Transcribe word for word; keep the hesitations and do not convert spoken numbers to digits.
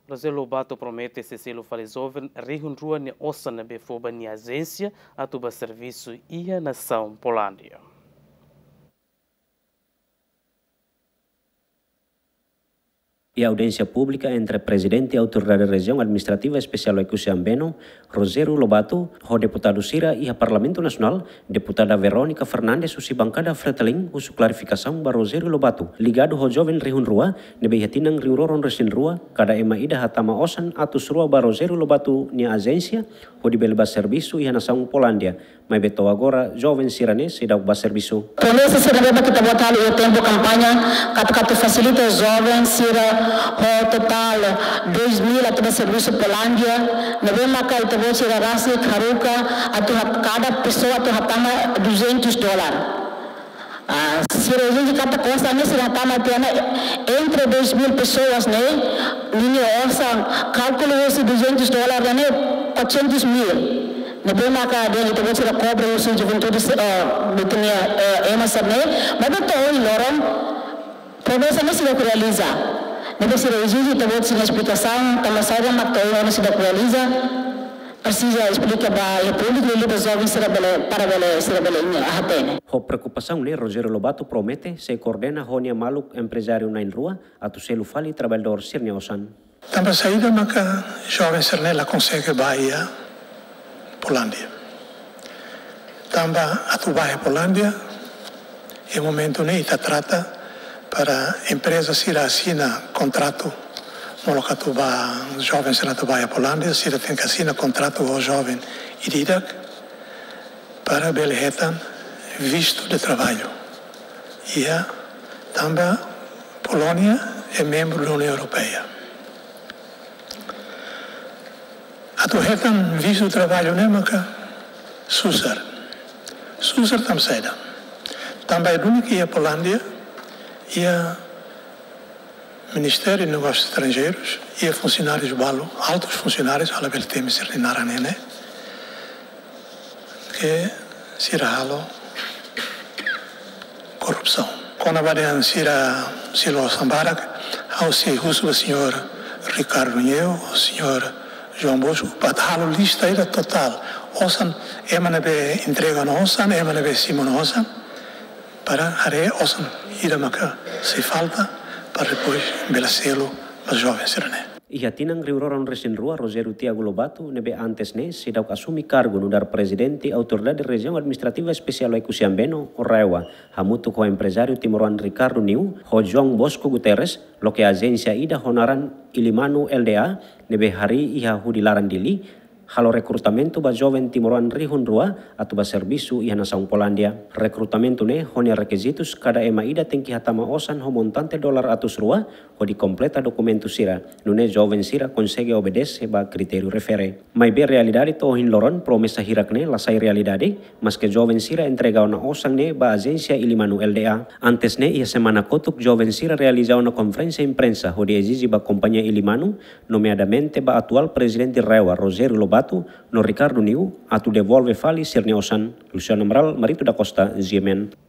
Rogério Lobato promete sei selu fali joven rihun rua nia osan ne'ebé fó ba nia ajénsia atu ba servisu iha nasaun Polándia. Iha audiénsia públika entre Prezidente Autoridade Rejiaun Administrativa Espesiál Oekusi Ambeno, Rogério Lobato, ho deputadu sira iha Parlamentu Nasionál, Deputada Verónica Fernandes husi bankada Fretilin husu klarifikasaun ba Rogério Lobato, ligadu ho joven rihun rua, ne'ebé iha tinan rihun rua ruanulu-resin-rua, kada ema ida hatama osan atus rua ba Rogério Lobato nia ajénsia, hodi bele ba servisu iha nasaun Polándia. Maibé to'o agora, joven sira-ne'e seidauk ba servisu. Polísia sira ne'ebé ita-boot halo iha tempu kampaña, katak atu fasilita joven sira ho totál dois mil atu ba servisu Polándia, ne'ebé maka ita-boot sira rasik haruka atu hat-, kada pesoa atu hatama duzentos dólar. Ah, sira ezije katak osan ne'e sira hatama tiha ona entre dois mil pessoas ne'e, ninia osan kálkulu husi duzentos dólar ne'e quatrocentos mil. Ne'ebé maka dehan ita-boot sira kobra husi juventude, eh, ita-nia, eh, ema sira-ne'e, maibé to'o ohin loron promesa ne'e seidauk realiza. Ne'ebé sira ezije ita-boot sira esplikasaun, tanba saida mak to'o ohin loron seidauk realiza. Presiza esplika ba iha públiku, liuliu ba joven sira bele, para bele, sira bele hatene. Ho preokupasaun ne'e, Rogério Lobato promete sei koordena ho nia maluk emprezáriu na'in-rua atu selu fali traballadór sira-nia osan. Tanba saida maka joven sira-ne'e la konsege bá iha Polándia? Tanba atu bá iha Polándia, iha momentu ne'e ita trata para empreza sira asina kontratu, molok atu bá, joven sira atu bá iha Polándia, sira tenke asina kontratu ho joven ida-idak para bele hetan vistu de traballu. Iha, tanba Polónia é membru da União Europeia. Atu hetan vistu traballu ne'e maka susar. Susar tanba saida? Tanba é duni ke iha Polándia, iha Ministériu Negósius Estranjeirus, iha funsionárius balu, altus funsionárius, ha'u labele temi sira-nia naran ne'e, ke sira halo korrupsaun. Kona-ba dehan sira selu osan barak, ha'u sei husu ba señór Ricardo Neu, señór João Bosco, para halo lista ida totál. Osan, ema ne'ebé entrega ona osan, ema ne'ebé simu ona osan, para haree osan ida maka sei falta, para depois bele selu ba joven sira-ne'e. Iha tinan rihun rua ruanulu-resin-rua, Rogério Tiago Lobato, ne'ebé antes ne'e seidauk asume kargu nu'udar Prezidente Autoridade Rejiaun Administrativa Espesiál Oekusi Ambeno, RAEOA, hamutuk ho emprezáriu timoroan Ricardo Neu, ho João Bosco Guterres, loke ajénsia ida ho naran Ilimanu L D A, ne'ebé harii iha hudi laran Dili, halo rekrutamentu ba joven timoroan rihun rua atu ba servisu iha nasaun Polándia. Rekrutamentu ne'e ho nia rekizitus, kada ema ida tenke hatama osan ho montante dolar atus rua, hodi kompleta dokumentu sira. Nune'e joven sira konsege obedese ba kritériu refere. Maibé realidade to'o ohin loron, promesa hirak-ne'e la sai realidade, maske joven sira entrega ona osan ne'e ba ajénsia Ilimanu L D A. Antes ne'e, iha semana kotuk, joven sira realiza ona konferénsia imprensa hodi ezije ba kompañia Ilimanu, nomeadamente ba atuál prezidente RAEOA, Rogério Lobato, no Ricardo Neu, atu devolve fali sira-nia osan. Luciano Amaral, Marito da Costa, G M N.